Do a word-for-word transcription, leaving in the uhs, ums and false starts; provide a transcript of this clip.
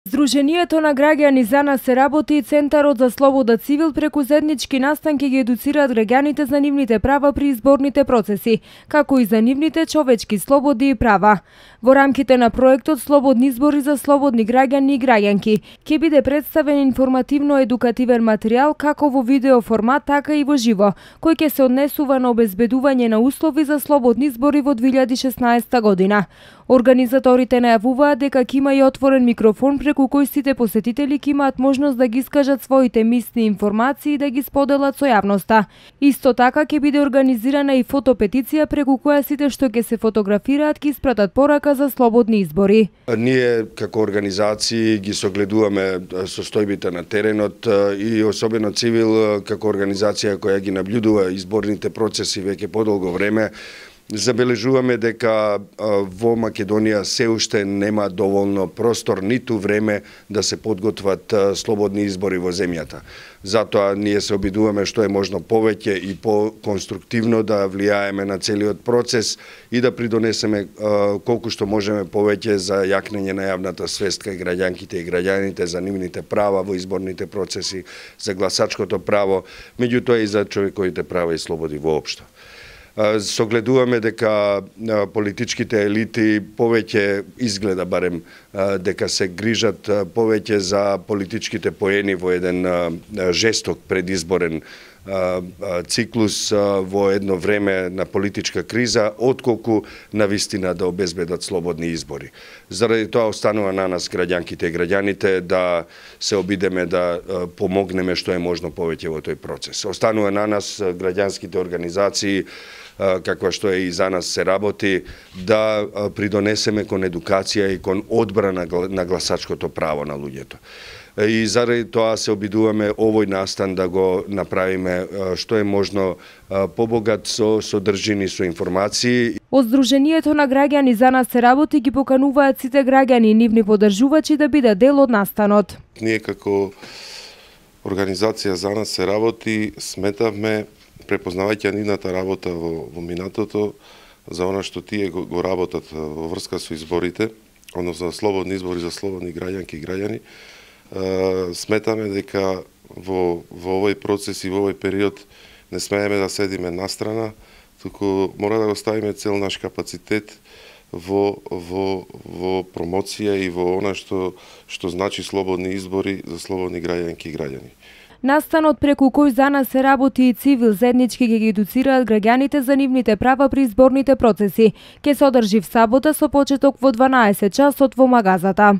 Здруженијето на граѓани За нас се работи и Центарот за слобода цивил преку заеднички настанки ги едуцираат граѓаните за нивните права при изборните процеси, како и за нивните човечки слободи и права. Во рамките на проектот Слободни избори за слободни граѓани и граѓанки ќе биде представен информативно-едукативен материјал како во видео формат, така и во живо, кој ќе се однесува на обезбедување на услови за слободни избори во две илјади и шеснаесетта година. Организаторите најавуваат дека ќе има и отворен микрофон преку кој сите посетители ќе имаат можност да ги искажат своите мисли и информации и да ги споделат со јавноста. Исто така ќе биде организирана и фотопетиција преку која сите што ќе се фотографираат ќе испратат порака за слободни избори. Ние како организации ги согледуваме состојбите на теренот и особено Цивил како организација која ги наблюдува изборните процеси веќе подолго време. Забележуваме дека во Македонија се уште нема доволно простор ниту време да се подготват слободни избори во земјата. Затоа ние се обидуваме што е можно повеќе и по-конструктивно да влијаеме на целиот процес и да придонесеме колку што можеме повеќе за јакнење на јавната свест кај граѓанките и граѓаните за нивните права во изборните процеси, за гласачкото право, меѓутоа и за човековите права и слободи воопшто. Согледуваме дека политичките елити повеќе изгледа барем дека се грижат повеќе за политичките поени во еден жесток предизборен циклус во едно време на политичка криза, отколку на вистина да обезбедат слободни избори. Заради тоа останува на нас граѓанките и граѓаните да се обидеме да помогнеме што е можно повеќе во тој процес. Останува на нас граѓанските организации каква што е и За нас се работи, да придонесеме кон едукација и кон одбрана на гласачкото право на луѓето. И заради тоа се обидуваме овој настан да го направиме што е можно побогат со содржини, со информации. Од Здруженијето на граѓани За нас се работи ги покануваат сите граѓани и нивни поддржувачи да бидат дел од настанот. Ние како организација За нас се работи сметавме, препознавајќи нивната работа во, во минатото, за она што тие го, го работат во врска со изборите, односно слободни избори за слободни граѓанки и граѓани, сметаме дека во, во овој процес и во овој период не смееме да седиме настрана, туку мора да го ставиме цел наш капацитет во, во, во промоција и во она што, што значи слободни избори за слободни граѓанки и граѓани. Настанот преку кој За нас се работи и Цивил заеднички ги едуцираат граѓаните за нивните права при изборните процеси, ќе се одржи в сабота со почеток во дванаесет часот во Магазата.